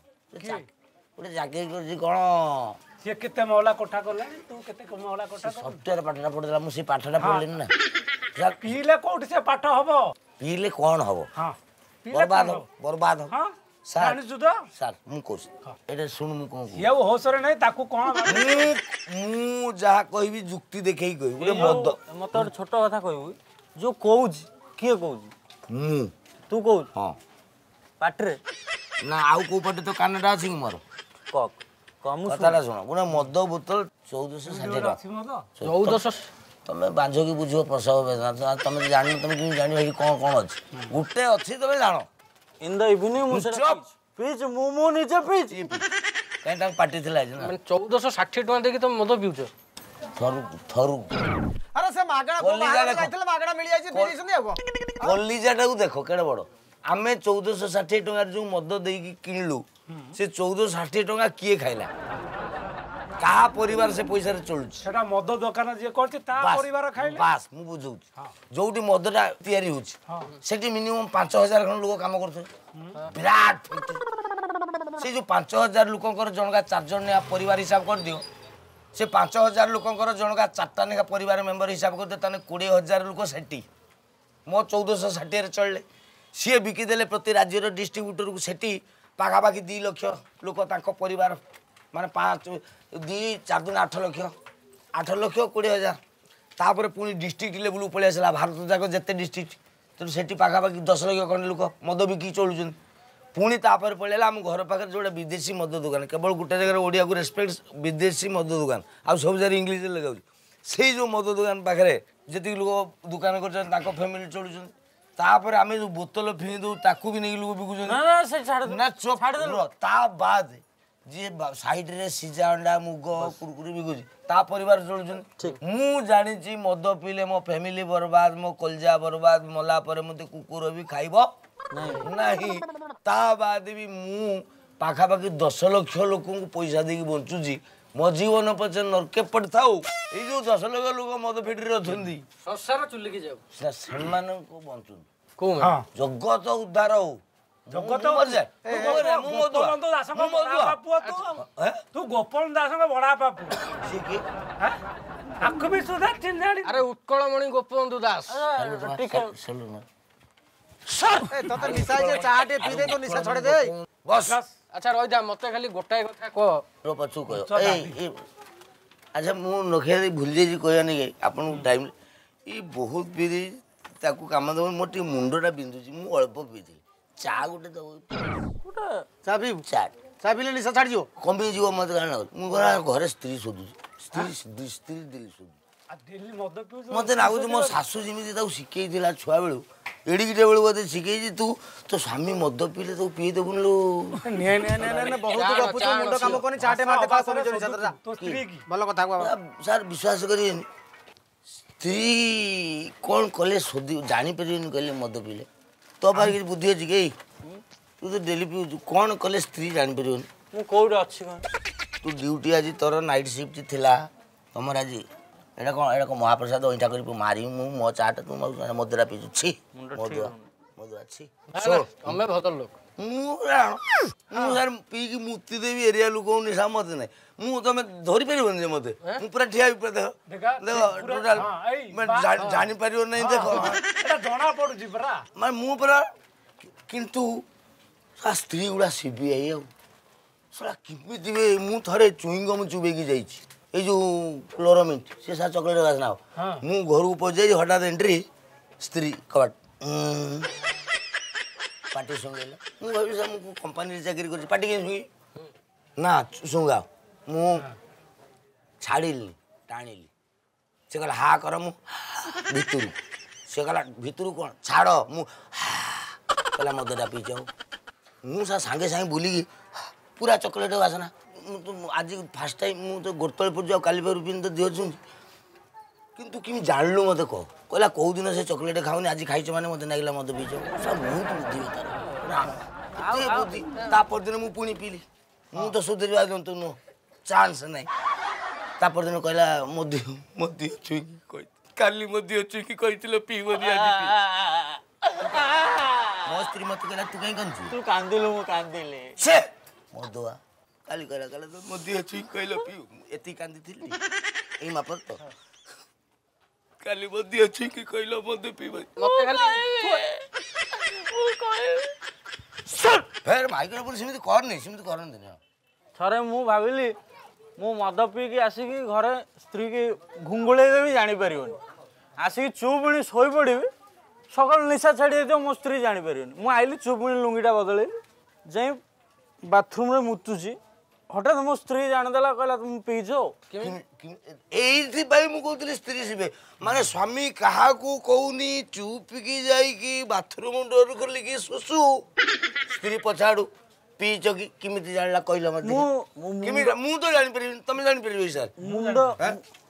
ଗୋଟେ ଚାକିରି କରୁଛି କ'ଣ ସିଏ କେତେ ମହଲା କୋଠା କଲାଣି ତୁ କେତେ ମହଲା କୋଠା ସଫ୍ଟୱେୟାର ପାଠଟା ପଢିଦେଲା ମୁଁ ସେଇ ପାଠଟା ପଢିଲିନି ନା ପିଇଲେ କୋଉଠି ସେ ପାଠ ହବ ପିଇଲେ କ'ଣ ହବ ହଁ ବର୍ବାଦ ହବ ବର୍ବାଦ ହବ ହଁ ସାର୍ ଜାଣିଛୁ ତ ସାର୍ ମୁଁ କହୁଛି ଏଇଟା ଶୁଣୁ ମୁଁ କ'ଣ ସିଏ ଆଉ ହୋସରେ ନାହିଁ ତାକୁ କ'ଣ ମୁଁ ମୁଁ ଯାହା କହିବି ଯୁକ୍ତି ଦେଖେଇ କହିବି ଗୋଟେ ମଦ ମତେ ଗୋଟେ ଛୋଟ କଥା କହିବୁ ଯୋଉ କହୁଛି କିଏ କହୁଛି ମୁଁ ତୁ କହୁଛୁ ହଁ ପାଟିରେ ନା ଆଉ କୋଉ ପଟେ ତ କାନଟା ଅଛି କି ମୋର କହ କହ ମୁଁ କଥାଟା ଶୁଣ ଗୋଟେ ମଦ ବୋତଲ ଚଉଦଶହ ଷାଠିଏ ଟଙ୍କା ଚଉଦଶହ ତମେ ବାଞ୍ଝକି ବୁଝିବ ପ୍ରସବ ବେଦନା ତମେ ଜାଣିନ ତମେ କେମିତି ଜାଣିବ ଏଠି କ'ଣ କ'ଣ ଅଛି ଗୋଟେ ଅଛି ତମେ ଜାଣ ଇନ୍ the evening ମୁଁ ସେଟା ପିଇଛି ମୁଁ ମୁଁ ନିଜେ ପିଇଛି କାହିଁ ତାଙ୍କ ପାଟି ଥିଲା ଆଜି ନା ମାନେ ଚଉଦଶହ ଷାଠିଏ ଟଙ୍କା ଦେଇକି ତମେ ମଦ ପିଉଛ ଥରୁ ଥରୁ ଆରେ ସେ ମାଗଣା କଲିଜା ଦେଖ ଯାଇଥିଲେ ମାଗଣା ମିଳି ଯାଇଛି ପିଇ ଦେଇଛନ୍ତି ଆଉ କ'ଣ କଲିଜାଟାକୁ ଦେଖ କେଡ଼େ ବଡ଼ ଆମେ ଚଉଦଶହ ଷାଠିଏ ଟଙ୍କାରେ ଯୋଉ ମଦ ଦେଇକି କିଣିଲୁ ସେ ଚଉଦଶହ ଷାଠିଏ ଟଙ୍କା କିଏ ଖାଇଲା କାହା ପରିବାର ସେ ପଇସାରେ ଚଳୁଛି ସେଟା ମଦ ଦୋକାନ ଯିଏ କରିଛି ତା ପରିବାର ଖାଇଲେ ବାସ୍ ମୁଁ ବୁଝଉଛି ଯୋଉଠି ମଦଟା ତିଆରି ହଉଛି ସେଠି ମିନିମମ୍ ପାଞ୍ଚ ହଜାର ଖଣ୍ଡ ଲୋକ କାମ କରୁଥିବେ ବିରାଟ ଫ୍ୟାକ୍ଟ୍ରି ସେ ଯୋଉ ପାଞ୍ଚ ହଜାର ଲୋକଙ୍କର ଜଣକା ଚାରି ଜଣ ଲେଖା ପରିବାର ହିସାବ କରିଦିଅ ସେ ପାଞ୍ଚ ହଜାର ଲୋକଙ୍କର ଜଣକା ଚାରିଟା ଲେଖା ପରିବାର ମେମ୍ବର ହିସାବ କରିଦିଅ ତାହେଲେ କୋଡ଼ିଏ ହଜାର ଲୋକ ସେଠି ମୋ ଚଉଦଶହ ଷାଠିଏରେ ଚଳିଲେ ସିଏ ବିକିଦେଲେ ପ୍ରତି ରାଜ୍ୟର ଡିଷ୍ଟ୍ରିବ୍ୟୁଟରକୁ ସେଠି ପାଖାପାଖି ଦୁଇ ଲକ୍ଷ ଲୋକ ତାଙ୍କ ପରିବାର ମାନେ ପାଞ୍ଚ ଦୁଇ ଚାରି ଦିନ ଆଠ ଲକ୍ଷ ଆଠ ଲକ୍ଷ କୋଡ଼ିଏ ହଜାର ତାପରେ ପୁଣି ଡିଷ୍ଟ୍ରିକ୍ଟ ଲେବୁଲକୁ ପଳେଇ ଆସିଲା ଭାରତ ଯାକ ଯେତେ ଡିଷ୍ଟ୍ରିକ୍ଟ ତେଣୁ ସେଠି ପାଖାପାଖି ଦଶ ଲକ୍ଷ ଖଣ୍ଡେ ଲୋକ ମଦ ବିକିକି ଚଳୁଛନ୍ତି ପୁଣି ତାପରେ ପଳେଇଲା ଆମ ଘର ପାଖରେ ଯେଉଁଟା ବିଦେଶୀ ମଦ ଦୋକାନ କେବଳ ଗୋଟେ ଜାଗାରେ ଓଡ଼ିଆକୁ ରେସପେକ୍ଟ ବିଦେଶୀ ମଦ ଦୋକାନ ଆଉ ସବୁ ଜାଗାରେ ଇଂଲିଶରେ ଲେଖାଉଛି ସେଇ ଯେଉଁ ମଦ ଦୋକାନ ପାଖରେ ଯେତିକି ଲୋକ ଦୋକାନ କରିଛନ୍ତି ତାଙ୍କ ଫ୍ୟାମିଲି ଚଳୁଛନ୍ତି ତାପରେ ଆମେ ଯୋଉ ବୋତଲ ଫିଙ୍ଗି ଦଉ ତାକୁ ବି ନେଇକି ଲୋକ ବିକୁଛନ୍ତି ନା ଚୁପ୍ ତା ବାଦ ଯିଏ ସାଇଡରେ ସିଝା ଅଣ୍ଡା ମୁଗ କୁରକୁରି ବିକୁଛି ତା ପରିବାର ଚଳୁଛନ୍ତି ମୁଁ ଜାଣିଛି ମଦ ପିଇଲେ ମୋ ଫ୍ୟାମିଲି ବର୍ବାଦ ମୋ କଲଜା ବର୍ବାଦ ମଲା ପରେ ମୋତେ କୁକୁର ବି ଖାଇବ ନାହିଁ ତା ବାଦ ବି ମୁଁ ପାଖାପାଖି ଦଶ ଲକ୍ଷ ଲୋକଙ୍କୁ ପଇସା ଦେଇକି ବଞ୍ଚୁଛି ମୋ ଜୀବନ ପଛେ ନର୍କେ ପଡ଼ିଥାଉ ଏଇ ଯୋଉ ଦଶ ଲକ୍ଷ ଲୋକ ମଦ ଫିଟିରେ ଅଛନ୍ତି ସଂସାର ଚୁଲିକି ଯାଉ ସେମାନଙ୍କୁ ବଞ୍ଚୁନି କୋଉ ଜଗତ ଉଦ୍ଧାର ହଉ ଜଗତ ଗୋପବନ୍ଧୁ ଦାସଙ୍କ ବଡ ପୁଅ ତୁ ତୁ ଗୋପବନ୍ଧୁ ଦାସଙ୍କ ବଡ ବାପା ପୁଅ ତାକୁ ବି ସୁଦ୍ଧା ଚିହ୍ନି ଆରେ ଉତ୍କଳମଣି ଗୋପବନ୍ଧୁ ଦାସ ତତେ ନିଶା ହେଇଛି ଚା ଟିକେ ପିଇ ଦେ ତୋ ନିଶା ଛଡେଇ ଦେ ବସ୍ ଆଚ୍ଛା ରହିଯା ମତେ ଖାଲି ଗୋଟାଏ କଥା କହ ପଛକୁ କହିବ ଏଇ ଆଚ୍ଛା ମୁଁ ନଖିଆ ଦେଇ ଭୁଲି ଯାଇଛି କହିବାନି କି ଆପଣଙ୍କୁ ଟାଇମ୍ ଏଇ ବହୁତ ପିଇ ଦେଇଛି ତାକୁ କାମ ଦେବ ମୋର ଟିକେ ମୁଣ୍ଡଟା ବିନ୍ଧୁଛି ମୁଁ ଅଳ୍ପ ପିଇଥିଲି ଚା ଗୋଟେ ଦେବ ଗୋଟେ ଚା ପିଇବୁ ଚା ଚା ପିଇଲେ ନିଶା ଛାଡ଼ିଯିବ କମିଯିବ ମତେ କାରଣ ଲାଗୁଛି ମୁଁ ଘରେ ସ୍ତ୍ରୀ ଶୋଧୁଛି ସ୍ତ୍ରୀ ସ୍ତ୍ରୀ ଡେଲି ଶୋଧୁଛି ମତେ ଲାଗୁଛି ମୋ ଶାଶୁ ଯେମିତି ତାକୁ ଶିଖେଇଥିଲା ଛୁଆବେଳୁ ଏଡ଼ିକିଟା ବେଳୁ ବୋଧେ ଶିଖେଇଛି ତୁ ତୋ ସ୍ୱାମୀ ମଦ ପିଇଲେ ତାକୁ ପିଇ ଦେବୁନି ଲୋ ଭଲ କଥା ସାର୍ ବିଶ୍ୱାସ କରିବେନି ସ୍ତ୍ରୀ କ'ଣ କଲେ ଶୋଧି ଜାଣିପାରିବେନି କହିଲେ ମଦ ପିଇଲେ ତୋ ପାଖରେ କିଛି ବୁଦ୍ଧି ଅଛି କି ତୁ ତ ଡେଲି ପିଉଛୁ କ'ଣ କଲେ ସ୍ତ୍ରୀ ଜାଣିପାରିବନି ମୁଁ କୋଉଠି ଅଛି କଣ ତୁ ଡ୍ୟୁଟି ଆଜି ତୋର ନାଇଟ୍ ସିଫ୍ଟ ଥିଲା ତମର ଆଜି ଏଇଟା କ'ଣ ଏଇଟା କ'ଣ ମହାପ୍ରସାଦ ଅଇଁଠା କରି ମାରିବି ମୁଁ ମୋ ଚାଟା ତୁ ମଦୁରା ପିଇଛୁ ଛି ମଦୁଆ ମଦୁଆ ଛି ତମେ ଭଦ୍ର ଲୋକ ମୁଁ ମୁଁ ସାର୍ ପିଇକି ମୁତି ଦେବି ଏରିଆ ଲୋକଙ୍କୁ ନିଶା ମତେ ନାହିଁ ମୁଁ ତମେ ଧରିପାରିବନି ଯେ ମତେ ମୁଁ ପୁରା ଠିଆ ହେବି ପୁରା ଦେଖ ଦେଖ ଟୋଟାଲ ଜାଣିପାରିବ ନାହିଁ ଦେଖ ଜଣା ପଡୁଛି ପରା ମାନେ ମୁଁ ପୁରା କିନ୍ତୁ ସ୍ତ୍ରୀ ଗୁଡ଼ା ସିବିଆଇ ଆଉ ଶଳା କେମିତି ବି ମୁଁ ଥରେ ଚୁଇଙ୍ଗମ୍ ଚୁବେଇକି ଯାଇଛି ଏଇ ଯୋଉ କ୍ଲୋରୋମିଣ୍ଟ ସେ ସାର୍ ଚକୋଲେଟ୍ ବାସ୍ନା ହବ ମୁଁ ଘରକୁ ପଶିଯାଇଛି ହଠାତ୍ ଏଣ୍ଟ୍ରି ସ୍ତ୍ରୀ କବାଟ ପାଟି ଶୁଙ୍ଘେଇଲା ମୁଁ ଭାବିଲି ସାର୍ ମୁଁ କମ୍ପାନୀରେ ଚାକିରି କରୁଛି ପାଟି କେମିତି ଶୁଙ୍ଘି ନା ଶୁଙ୍ଘାଅ ମୁଁ ଛାଡ଼ିଲି ଟାଣିଲି ସେ କହିଲା ହା କର ମୁଁ ଭିତରୁ ସେ କହିଲା ଭିତରୁ କ'ଣ ଛାଡ଼ ମୁଁ କହିଲା ମଦଟା ପିଇଛ ମୁଁ ସାର୍ ସାଙ୍ଗେ ସାଙ୍ଗେ ବୁଲିକି ପୁରା ଚକୋଲେଟ୍ ବାସନା ମୁଁ ତ ଆଜି ଫାର୍ଷ୍ଟ ଟାଇମ୍ ମୁଁ ତ ଗୋଡ଼ ତଳେ ପଡ଼ୁଛି ଆଉ କାଲି ପାରୁ ପିନ୍ଧି ତ ଦେହ ଛୁଉଁଛି କିନ୍ତୁ କେମିତି ଜାଣିଲୁ ମୋତେ କହ କହିଲା କେଉଁ ଦିନ ସେ ଚକୋଲେଟ୍ ଖାଉନି ଆଜି ଖାଇଛ ମାନେ ମୋତେ ଲାଗିଲା ମଦ ପିଇଛ ସାର୍ ବହୁତ ବୁଦ୍ଧି ତାର ଏତେ ବୁଦ୍ଧି ତା ପରଦିନ ମୁଁ ପୁଣି ପିଇଲି ମୁଁ ତ ସୁଧରିବା ଜନ୍ତୁ ନୁହଁ ଚାନ୍ସ ନାହିଁ ତା ପରଦିନ କହିଲା ମୋ ଦେହ ମୋ ଦେହ ଛୁଇଁକି କହି କାଲି ମୋ ଦେହ ଛୁଇଁକି କହିଥିଲ ପିଇବନି ଆଜି ପିଇ ମୋ ସ୍ତ୍ରୀ ମୋତେ କହିଲା ତୁ କାହିଁ କାନ୍ଦୁଛୁ ତୁ କାନ୍ଦିଲୁ ମୁଁ କାନ୍ଦିଲି ସେ ମଦୁଆ କାଲି କହିଲା କହିଲା ମୋ ଦେହ ଛୁଇଁକି କହିଲ ପିଉ ଏତିକି କାନ୍ଦିଥିଲି ଏଇ ମାପରେ ତ କାଲି ମୋ ଦେହ ଛୁଇଁକି କହିଲ ମଦ ପିଇବନି ମତେ ଖାଲି ଫେର ମାଇକ୍ରୋଫୋନ୍ ସେମିତି କରନି ସେମିତି କରନ୍ତିନି ଥରେ ମୁଁ ଭାବିଲି ମୁଁ ମଦ ପିଇକି ଆସିକି ଘରେ ସ୍ତ୍ରୀକି ଘୁଙ୍ଗୁଳେଇ ଦେବି ଜାଣିପାରିବନି ଆସିକି ଚୁପ୍ ଶୋଇପଡ଼ିବି ସକାଳୁ ନିଶା ଛାଡ଼ି ଯାଇଥିବ ମୋ ସ୍ତ୍ରୀ ଜାଣିପାରିବନି ମୁଁ ଆଇଲି ଚୁପ୍ ଲୁଙ୍ଗିଟା ବଦଳେଇଲି ଯାଇ ବାଥରୁମ୍ରେ ମୁତୁଛି ହଠାତ୍ ମୋ ସ୍ତ୍ରୀ ଜାଣିଦେଲା କହିଲା ତୁମେ ପିଇଛ ଏଇଥିପାଇଁ ମୁଁ କହୁଥିଲି ସ୍ତ୍ରୀ ଶିବେ ମାନେ ସ୍ୱାମୀ କାହାକୁ କହୁନି ଚୁପିକି ଯାଇକି ବାଥରୁମ୍ ଡୋର ଖୋଲିକି ଶୁଶୁ ସ୍ତ୍ରୀ ପଛାଡ଼ୁ ପିଇଛ କି କେମିତି ଜାଣିଲା କହିଲ ମତେ କେମିତି ମୁଁ ତ ଜାଣିପାରିବିନି ତମେ ଜାଣିପାରିବ ସାର୍ ମୁଣ୍ଡ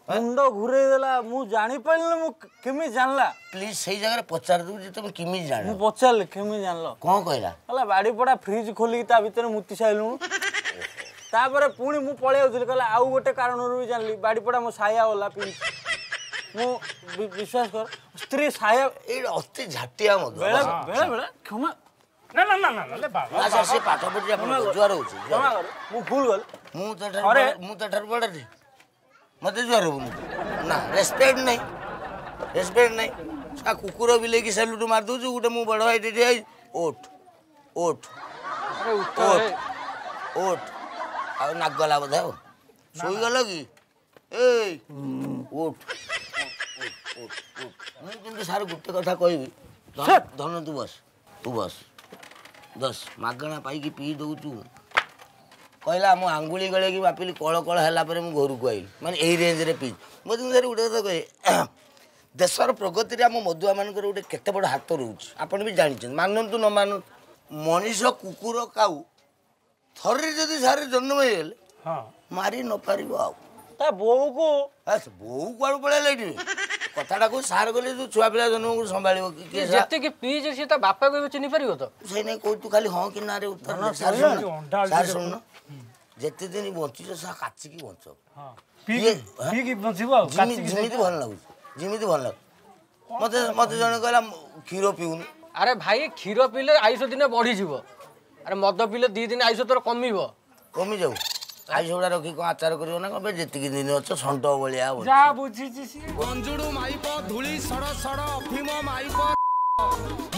ମୁଣ୍ଡ ଘୁରେଇ ଦେଲା ମୁଁ ଜାଣିପାରିଲିନି ମୁଁ କେମିତି ଜାଣିଲା ପ୍ଲିଜ ସେଇ ଜାଗାରେ ପଚାରି ଦବୁ ଯେ ତମେ କେମିତି ଜାଣିଲ ମୁଁ ପଚାରିଲି କେମିତି ଜାଣିଲ କ'ଣ କହିଲା କହିଲା ବାଡ଼ିପଡ଼ା ଫ୍ରିଜ୍ ଖୋଲିକି ତା ଭିତରେ ମୁତି ସାରିଲୁଣୁ ତାପରେ ପୁଣି ମୁଁ ପଳେଇ ଯାଉଥିଲି କହିଲା ଆଉ ଗୋଟେ କାରଣରୁ ବି ଜାଣିଲି ବାଡ଼ିପଡ଼ା ମୋ ସାୟା ଗଲା ପିଇଛି ମୁଁ ବିଶ୍ୱାସ କର ସ୍ତ୍ରୀ ସାୟା ଏଇଟା ଅତି ଝାଟିଆ ମଦ ବେଳେ ବେଳେ ବେଳେ କ୍ଷମା ନା ନା ନା ନା ବାବା ସାର୍ ସେ ପାଠ ପଢି ଆପଣ ଜୁଆର ହଉଛି କ୍ଷମା କର ମୁଁ ଭୁଲ ଗଲି ମୁଁ ତ ଠାରୁ ମୁଁ ତ ଠାରୁ ବଡ଼ ମତେ ଜୁଆର ହବୁନି ନା ରେସପେକ୍ଟ ନାହିଁ ରେସପେକ୍ଟ ନାହିଁ ଆ କୁକୁର ବିଲେଇକି ସାଲ୍ୟୁଟ୍ ମାରି ଦଉଛୁ ଗୋଟେ ମୁଁ ବଡ଼ ଭାଇ ଠିଆ ହେଇ ଓଠ ଓଠ ଓଠ ଓଠ ଆଉ ନାକ ଗଲା ବୋଧେ ଆଉ ଶୋଇଗଲ କି ଏଇ ଉଠ ମୁଁ କିନ୍ତୁ ସାର୍ ଗୋଟେ କଥା କହିବି ଧନ ତୁ ବସ ତୁ ବସ ଦଶ ମାଗଣା ପାଇକି ପିଇ ଦଉଛୁ କହିଲା ମୁଁ ଆଙ୍ଗୁଳି ଗଳେଇକି ବାପିଲି କଳ କଳ ହେଲା ପରେ ମୁଁ ଘରକୁ ଆଇଲି ମାନେ ଏଇ ରେଞ୍ଜରେ ପିଇ ମୁଁ କିନ୍ତୁ ସାର୍ ଗୋଟେ କଥା କହେ ଦେଶର ପ୍ରଗତିରେ ଆମ ମଦୁଆମାନଙ୍କର ଗୋଟେ କେତେ ବଡ଼ ହାତ ରହୁଛି ଆପଣ ବି ଜାଣିଛନ୍ତି ମାନନ୍ତୁ ନ ମାନନ୍ତୁ ମଣିଷ କୁକୁର କାଉ ଥରେ ଯଦି ସାର୍ ଜନ୍ମ ହେଇଗଲେ ମାରି ନପାରିବ ଆଉ ତା ବୋଉକୁ ବୋଉ କୁଆଡ଼ୁ ପଳେଇଲା ଏଠି କଥାଟାକୁ ସାର୍ ଗଲେ ଯୋଉ ଛୁଆ ପିଲା ଜନ୍ମକୁ ସମ୍ଭାଳିବ କିଏ ଯେତିକି ପିଇଛି ସିଏ ତା ବାପାକୁ ଏବେ ଚିହ୍ନି ପାରିବ ତ ସେଇ ନାଇଁ କହୁଛୁ ତୁ ଖାଲି ହଁ କି ନାରେ ଉତ୍ତର ସାର୍ ଶୁଣୁନ ଯେତେ ଦିନ ବଞ୍ଚିଛ ସା କାଚିକି ବଞ୍ଚ ଯେମିତି ଭଲ ଲାଗୁଛି ଯେମିତି ଭଲ ଲାଗୁଛି ମତେ ମତେ ଜଣେ କହିଲା କ୍ଷୀର ପିଉନୁ ଆରେ ଭାଇ କ୍ଷୀର ପିଇଲେ ଆୟୁଷ ଦିନେ ବଢିଯିବ ଆରେ ମଦ ପିଇଲେ ଦି ଦିନ ଆୟୁଷ ତୋର କମିବ କମିଯାଉ ଆୟୁଷ ଗୁଡ଼ା ରଖି କ'ଣ ଆଚାର କରିବ ନା କଣ ଯେତିକି ଦିନ ଅଛ ଷଣ୍ଢ ଭଳିଆ ଯାହା ବୁଝିଛି ସିଏ ଗଞ୍ଜୁଡୁ ମାଇପ ଧୂଳି ସଡ଼ ସଡ଼ ଅଫିମ ମାଇପ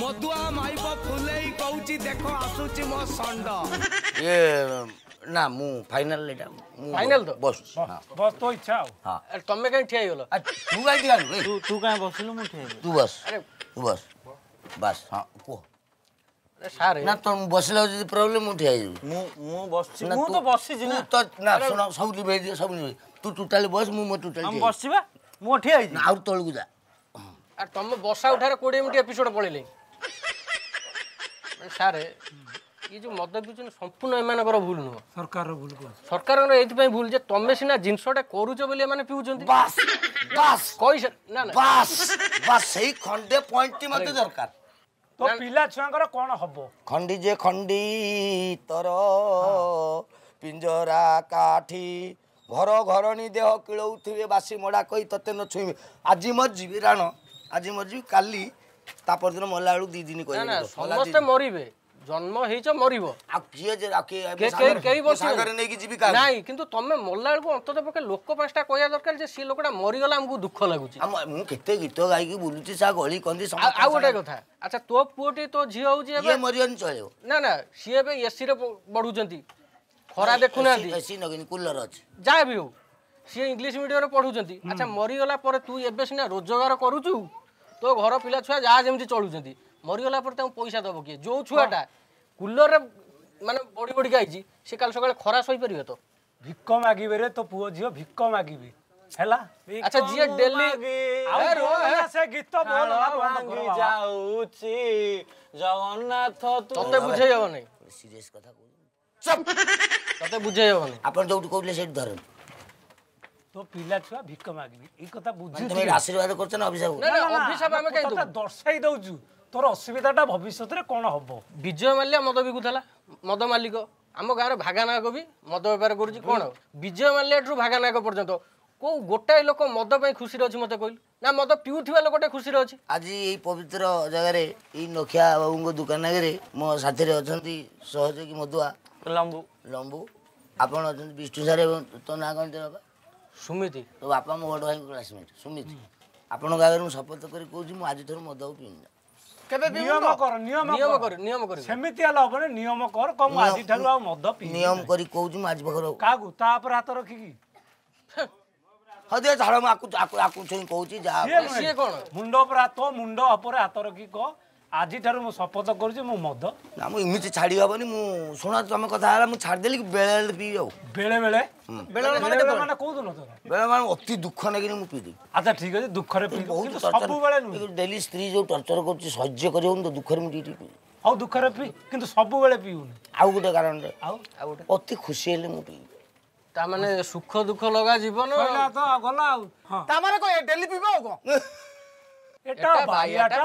ମଦୁଆ ମାଇପ ଫୁଲେଇ କହୁଛି ଦେଖ ଆସୁଛି ମୋ ଷଣ୍ଢ ଇଏ ନା ମୁଁ ଫାଇନାଲ ଏଇଟା ମୁଁ ଫାଇନାଲ ତ ବସ ବସ ତୋ ଇଚ୍ଛା ଆଉ ଆରେ ତମେ କାହିଁ ଠିଆ ହେଇଗଲ ତୁ କାହିଁ ଠିଆ ହେଲୁ ତୁ ତୁ କାହିଁ ବସିଲୁ ମୁଁ ଠିଆ ତୁ ବସ ତୁ ବସ ବାସ୍ ହଁ କୁହ ସାର୍ ନା ତ ବସିଲା ଯଦି ପ୍ରୋବ୍ଲେମ୍ ମୁଁ ଠିଆ ହେଇଯିବି ମୁଁ ମୁଁ ବସିଛି ମୁଁ ତ ବସିଛି ନା ତ ନା ଶୁଣ ସବୁ ଲିଭେଇ ଦିଅ ସବୁ ଲିଭେଇ ତୁ ଟୋଟାଲି ବସ ମୁଁ ମୋ ଟୋଟାଲି ମୁଁ ବସିଛି ବା ମୁଁ ଠିଆ ହେଇଛି ଆଉ ତଳକୁ ଯା ଆରେ ତମ ବସା ଉଠାରେ କୋଡ଼ିଏ ମିନିଟ୍ ଏପିସୋଡ ପଳେଇଲେ ସାର୍ ଇଏ ଯୋଉ ମଦ ପିଉଛନ୍ତି ସମ୍ପୂର୍ଣ୍ଣ ଏମାନଙ୍କର ଭୁଲ ନୁହଁ ସରକାରର ଭୁଲ କୁହ ସରକାରଙ୍କର ଏଇଥିପାଇଁ ଭୁଲ ଯେ ତମେ ସିନା ଜିନିଷଟା କରୁଛ ବୋଲି ଏମାନେ ପିଉଛନ୍ତି ବାସ୍ ବାସ୍ କହି ନା ନା ବାସ୍ ବାସ୍ ସେଇ ଖଣ୍ଡେ ପଏଣ୍ଟଟି ମତେ ଦରକାର ତ ପିଲା ଛୁଆଙ୍କର କ'ଣ ହବ ଖଣ୍ଡି ଯେ ଖଣ୍ଡି ତର ପିଞ୍ଜରା କାଠି ଘର ଘରଣୀ ଦେହ କିଳଉଥିବେ ବାସି ମଡ଼ା କହି ତତେ ନ ଛୁଇଁବେ ଆଜି ମରିଯିବି ରାଣ ଆଜି ମରିଯିବି କାଲି ତା ପରଦିନ ମଲା ବେଳକୁ ଦି ଦିନ କହିବେ ସମସ୍ତେ ମରିବେ ଜନ୍ମ ହେଇଛ ମରିବ ଆଉ କିଏ ଯେ ଆଉ କିଏ କେ- କେହି କେହି ସାଙ୍ଗରେ ନେଇକି ଯିବି କାହାକୁ? ନାଇଁ କିନ୍ତୁ ତମେ ମଲା ବେଳକୁ ଅନ୍ତତଃ ପକ୍ଷେ ଲୋକ ପାଞ୍ଚଟା କହିବା ଦରକାର ଯେ ସେ ଲୋକଟା ମରିଗଲା ଆମକୁ ଦୁଃଖ ଲାଗୁଛି ଆଉ ମୁଁ- ମୁଁ କେତେ ଗୀତ ଗାଇକି ବୁଲୁଛି ସା ଗଳି କନ୍ଦି ଆଉ ଆଉ ଗୋଟେ କଥା ଆଚ୍ଛା ତୋ ପୁଅଟି ତୋ ଝିଅ ହଉଛି ଏବେ ଇଏ ମରିବନି ଚଳିବ ନା ନା ସିଏ ଏବେ ଏସି ରେ ବଢୁଛନ୍ତି ଖରା ଦେଖୁନାହାନ୍ତି ଏସି ନଗିନି କୁଲର ଅଛି ଯାହା ବି ହଉ ସିଏ ଇଂଲିଶ ମିଡିୟମରେ ପଢୁଛନ୍ତି ଆଚ୍ଛା ମରିଗଲା ପରେ ତୁ ଏବେ ସିନା ରୋଜଗାର କରୁଛୁ ତୋ ଘର ପିଲା ଛୁଆ ଯାହା ଯେମିତି ଚଳୁଛନ୍ତି ମରିଗଲା ପରେ ତାଙ୍କୁ ପଇସା ଦବ କିଏ ଯୋଉ ଛୁଆଟା କୁଲରରେ ମାନେ ବଢି ବଢିକି ଆଇଛି ସେ କାଲି ସକାଳେ ଖରା ସହିପାରିବେ ତ ଭିକ ମାଗିବେ ରେ ତୋ ପୁଅ ଝିଅ ଭିକ ମାଗିବେ ହେଲା ଆଚ୍ଛା ଯିଏ ଡେଲି ଆଉ ବୋଲନା ସେ ଗୀତ ବୋଲନା ବନ୍ଦ କର ବାବା। ଯାଉଛି ଜଗନ୍ନାଥ ତୁ ତତେ ବୁଝେଇ ହବ ନାହିଁ ସିରିୟସ୍ କଥା କହୁଛି ତତେ ବୁଝେଇ ହବନି ଆପଣ ଯୋଉଠି କହୁଥିଲେ ସେଇଠି ଧରନ୍ତୁ ତୋ ପିଲା ଛୁଆ ଭିକ ମାଗିବେ ଏଇ କଥା ବୁଝୁଛୁ ତମେ ଏଇଟା ଆଶୀର୍ବାଦ କରୁଛ ନା ଅଭିଶାପ ନା ନା ଅଭିଶାପ ଆମେ କାହିଁ ତତେ ଦବୁ ଦର୍ଶାଇ ଦଉଛୁ ତୋର ଅସୁବିଧାଟା ଭବିଷ୍ୟତରେ କଣ ହବ ବିଜୟ ମାଲ୍ୟା ମଦ ବିକୁଥିଲା ମଦ ମାଲିକ ଆମ ଗାଁର ଭାଗା ନାୟକ ବି ମଦ ବେପାର କରୁଛି କଣ ବିଜୟ ମାଲ୍ୟାଠୁ ଭାଗା ନାୟକ ପର୍ଯ୍ୟନ୍ତ କୋଉ ଗୋଟାଏ ଲୋକ ମଦ ପାଇଁ ଖୁସିରେ ଅଛି ମତେ କହିଲୁ ନା ମଦ ପିଉଥିବା ଲୋକଟେ ଖୁସିରେ ଅଛି ଆଜି ଏଇ ପବିତ୍ର ଜାଗାରେ ଏଇ ନଖିଆ ବାବୁଙ୍କ ଦୋକାନ ଆଗରେ ମୋ ସାଥିରେ ଅଛନ୍ତି ସହଯୋଗୀ ମଦୁଆ ଲମ୍ବୁ ଲମ୍ବୁ ଆପଣ ଅଛନ୍ତି ବିଷ୍ଣୁ ସାର୍ ଏବଂ ତୋ ନାଁ କଣ ତୋ ବାପା ସୁମିତି ତୋ ବାପା ମୋ ବଡ଼ ଭାଇଙ୍କ କ୍ଲାସମେଟ୍ ସୁମିତ ଆପଣଙ୍କ ଆଗରେ ମୁଁ ଶପଥ କରି କହୁଛି ମୁଁ ଆଜିଠାରୁ ମଦ ଆଉ ପିଇନି କେବେ ନିୟମ କର ନିୟମ ନିୟମ କର କର ନିୟମ କରିବୁ ସେମିତି ହେଲେ ହବନି ନିୟମ କର କହ ମୁଁ ଆଜିଠାରୁ ଆଉ ମଦ ପିଇବି ନିୟମ କରି କହୁଛି ମୁଁ ଆଜି ପାଖରୁ କାହାକୁ ତା ଉପରେ ହାତ ରଖିକି ହଁ ଦିଅ ଛାଡ଼ ମୁଁ ଆକୁ ଆକୁ ଆକୁ ଛୁଇଁ କହୁଛି ଯାହା ସିଏ ନୁହେଁ। ସିଏ କଣ? ମୁଣ୍ଡ ଉପରେ ହାତ ମୁଣ୍ଡ ଉପରେ ହାତ ରଖିକି କହ ଆଜିଠାରୁ ମୁଁ ଶପଥ କରୁଛି ମୁଁ ମଦ ନା ମୁଁ ଏମିତି ଛାଡ଼ି ହବନି ମୁଁ ଶୁଣ ତମେ କଥା ହେଲା ମୁଁ ଛାଡ଼ିଦେଲି କି ବେଳେ ବେଳେ ପିଇବି ଆଉ ବେଳେ ବେଳେ ବେଳେ ବେଳେ ମାନେ ବେଳେ ବେଳେ ମାନେ କୋଉ ଦିନ ତୋର ବେଳେ ମାନେ ଅତି ଦୁଃଖ ନେଇକିନି ମୁଁ ପିଇଦେବି ଆଚ୍ଛା ଠିକ ଅଛି ଦୁଃଖରେ ପିଇବୁ ବହୁତ କିନ୍ତୁ ଟର୍ଚର ସବୁବେଳେ ନୁହେଁ ଡେଲି ସ୍ତ୍ରୀ ଯୋଉ ଟର୍ଚର କରୁଛି ସହ୍ୟ କରିହଉନି ତ ଦୁଃଖରେ ମୁଁ ଟିକେ ଟିକେ ପିଇବି ହଉ ଦୁଃଖରେ ପିଇ କିନ୍ତୁ ସବୁବେଳେ ପିଉନି ଆଉ ଗୋଟେ କାରଣରେ ଆଉ ଆଉ ଗୋଟେ ଅତି ଖୁସି ହେଲେ ମୁଁ ପିଇବି ତା ମାନେ ସୁଖ ଦୁଃଖ ଲଗା ଜୀବନ ସଇଲା ତ ଆଉ ଗଲା ଆଉ ହଁ ତା ମାନେ କଣ ଡେଲି ପିଇବ ଆଉ କଣ ଏଟା ବାଇଆଟା